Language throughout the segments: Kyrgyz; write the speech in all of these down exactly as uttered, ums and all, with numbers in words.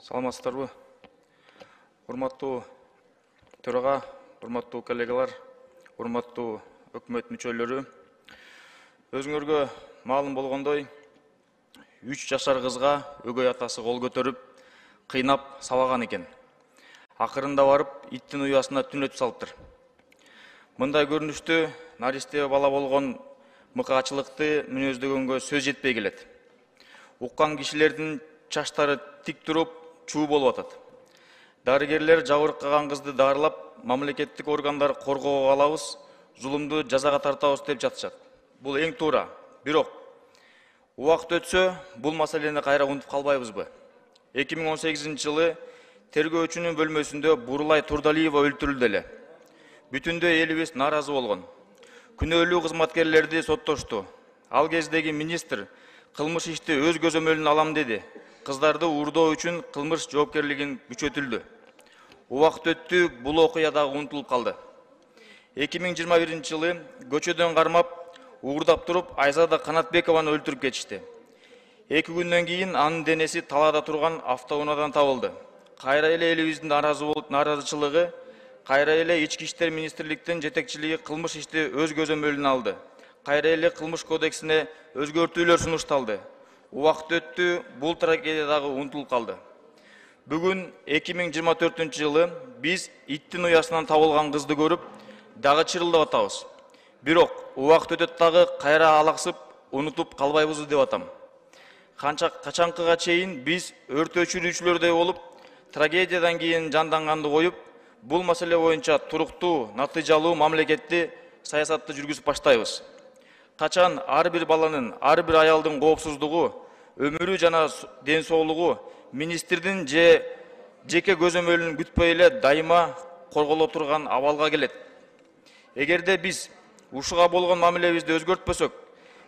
Саламатсыздарбы? Урматтуу төрага, урматтуу коллегалар, урматтуу өкмөт мүчөлөрү. Өзүңөргө маалым болгондой, үч жашар кызга өгөй атасы кол көтөрүп, кыйнап сабаган экен. Акырында барып, иттин уясына түнөтүп салыптыр. Мындай көрүнүштө наристе бала болгон мыкаачылыкты мүнөздөгөнгө сөз жетпей келет. Уккан кишилердин чачтары тик туруп, чуу болуп атат. Дарыгерлер жабыркаган кызды дарылап, мамлекеттик органдар коргоого алабыз, зулумду жазага тартабыз деп жатышат. Бул эң туура. Бирок убакыт өтсө, бул маселени кайра унутуп калбайбызбы? эки миң он сегизинчи жылы тергөөчүнүн бөлмөсүндө Бурулай Турдалиева өлтүрүлдү эле. Бүтүндөй элибиз нааразы болгон. Күнөөлүү кызматкерлерди соттошту. Ал кездеги министр кылмыш ишти өз көзөмөлүнө алам деди. Кыздарды уурдоо үчүн кылмыш жоопкерлигин күчөтүлдү. Убакыт өттү, бул окуя дагы унутулуп калды. эки миң жыйырма биринчи жылы көчөдөн кармап, уурдап туруп Айзада Канатбекованы өлтүрүп кетишти. Эки күндөн кийин анын денеси талаада турган автоунаадан табылды. Кайра эле элибиздин нааразычылыгы, кайра эле Ички иштер министрликтин жетекчилиги кылмыш ишти өз көзөмөлүнө алды. Кайра эле кылмыш кодексине өзгөртүүлөр сунушталды. Убакыт өттү, бул трагедия дагы унутулуп калды. Бүгүн эки миң жыйырма төртүнчү жылы биз иттин уясынан табылган кызды көрүп, дагы чырылдап атабыз. Бирок убакыт өтөт дагы кайра алаксып, унутуп калбайбыз деп атам. Канча качанкыга чейин биз өрт өчүрүүчүлөрдөй болуп, трагедиядан кийин жанданганды коюп, бул маселе боюнча туруктуу, натыйжалуу мамлекетти саясатты жүргүзүп баштайбыз. Качан ар бир баланын, ар бир аялдын коопсуздугу, өмүрү жана ден соолугу министрдин же жеке көзөмөлүн күтпөй эле дайыма корголо турган абалга келет. Эгерде биз ушуга болгон мамилебизди өзгөртпөсөк,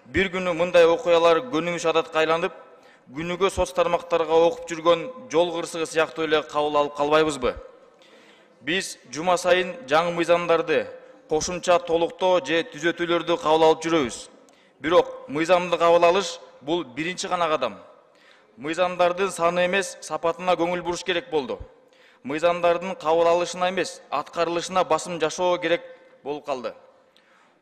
бир күнү мындай окуялар көнүмүш адатка айланып, күнүгө соц тармактарга окуп жүргөн жол кырсыгы сыяктуу эле кабыл алып калбайбызбы? Биз жума сайын жаңы мыйзамдарды, кошумча толуктоо же түзөтүүлөрдү кабыл алып жүрөбүз. Бирок мыйзамды кабыл алыш бул биринчи гана кадам. Мыйзамдардын саны эмес, сапатына көңүл буруш керек болду. Мыйзамдардын кабыл алышына эмес, аткарылышына басым жашоо керек болуп калды.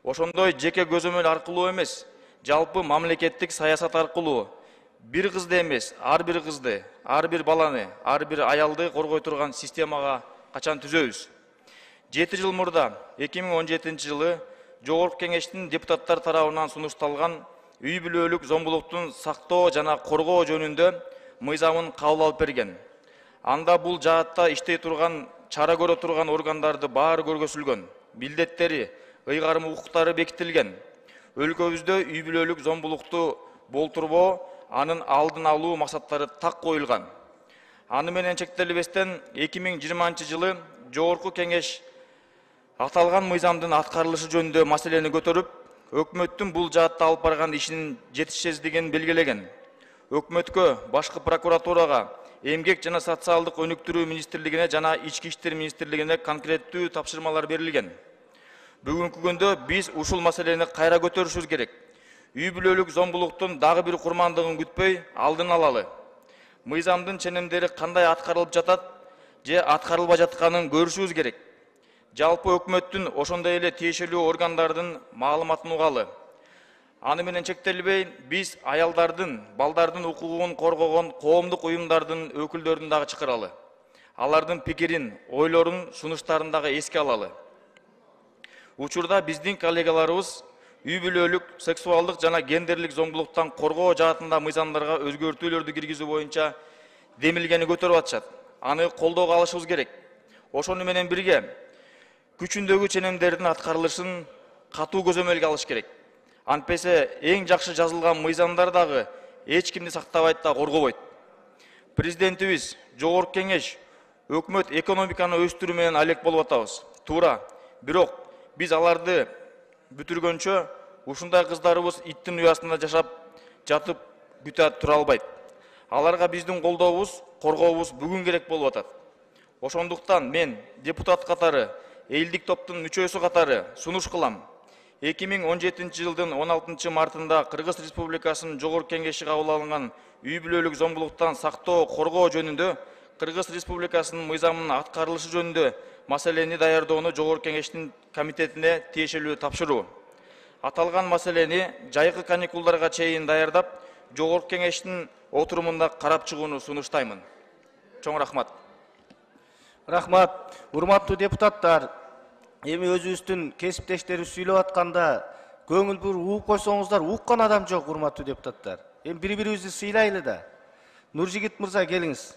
Ошондой жеке көзөмөл аркылуу эмес, жалпы мамлекеттик саясат аркылуу бир кызды эмес, ар бир кызды, ар бир баланы, ар бир аялды коргой турган системага качан түзөбүз? жети жыл мурда эки миң он жетинчи жылы Жогорку кеңештин депутаттар тарабынан сунушталган үй бүлөлүк зомбулуктун сактоо жана коргоо жөнүндө мыйзамын кабыл алып берген. Анда бул жаатта иштей турган, чара көрө турган органдарды баары көргөзүлгөн, милдеттери, ыйгарым укуктары бекитилген. Өлкөбүздө үй бүлөлүк зомбулукту болтурбоо, анын алдын алуу максаттары так коюлган. Аны менен чектелбестен эки миң жыйырманчы жылы Жогорку кеңеш аталган мыйзамдын аткарылышы жөнүндө маселени көтөрүп, өкмөттүн бул жаатта алып барган ишинин жетишсиздигин белгилеген. Өкмөткө, башкы прокуратурага, эмгек жана социалдык өнүктүрүү министрлигине жана Ички иштер министрлигине конкреттүү тапшырмалар берилген. Бүгүнкү күндө биз ушул маселени кайра көтөрүшүбүз керек. Үй бүлөлүк зомбулуктун дагы бир курмандыгын күтпөй алдын алалы. Мыйзамдын ченемдери кандай аткарылып жатат же аткарылбай жатканын көрүшүбүз керек. Жалпы өкмөттүн ошондой эле тиешелүү органдардын маалыматын угалы. Аны менен чектелбей, биз аялдардын, балдардын укугун коргогон коомдук уюмдардын өкүлдөрүн дагы чакыралы. Алардын пикирин, ойлорун, сунуштарын дагы эске алалы. Учурда биздин коллегаларыбыз үй бүлөлүк, сексуалдык жана гендерлик зомбулуктан коргоо жаатында мыйзамдарга өзгөртүүлөрдү киргизүү боюнча демилгени көтөрүп атышат. Аны колдоого алышыбыз керек. Ошону менен бирге күчүндөгү ченемдердин аткарылышын катуу көзөмөлгө алыш керек. Антпесе эң жакшы жазылган мыйзамдар дагы эч кимди сактабайт да коргобойт. Президентибиз, Жогорку кеңеш, өкмөт экономиканы өстүрүү менен алек болуп атабыз. Туура. Бирок биз аларды бүтүргөнчө ушундай кыздарыбыз иттин уясында жашап жатып күтө тура албайт. Аларга биздин колдообуз, коргообуз бүгүн керек болуп атат. Ошондуктан мен депутат катары, элдик топтун мүчөсү катары сунуш кылам. эки миң он жетинчи жылдын он алтынчы мартында Кыргыз Республикасынын Жогорку кеңеши кабыл алынган үй бүлөлүк зомбулуктан сактоо, коргоо жөнүндө Кыргыз Республикасынын мыйзамынын аткарылышы жөнүндө маселени даярдоону Жогорку Кеңештин комитетине тиешелүү тапшыруу. Аталган маселени жайкы каникулдарга чейин даярдап, Жогорку Кеңештин отурумунда карап чыгууну сунуштаймын. Чоң рахмат. Рахмат. Урматтуу депутаттар, эми өзүбүздүн кесиптештерибиз сүйлөп атканда көңүл буруп угуп койсоңуздар, уккан адам жок, урматтуу депутаттар. Эми бири-бирибизди сыйлайлы да. Нуржигит мырза, келиңиз.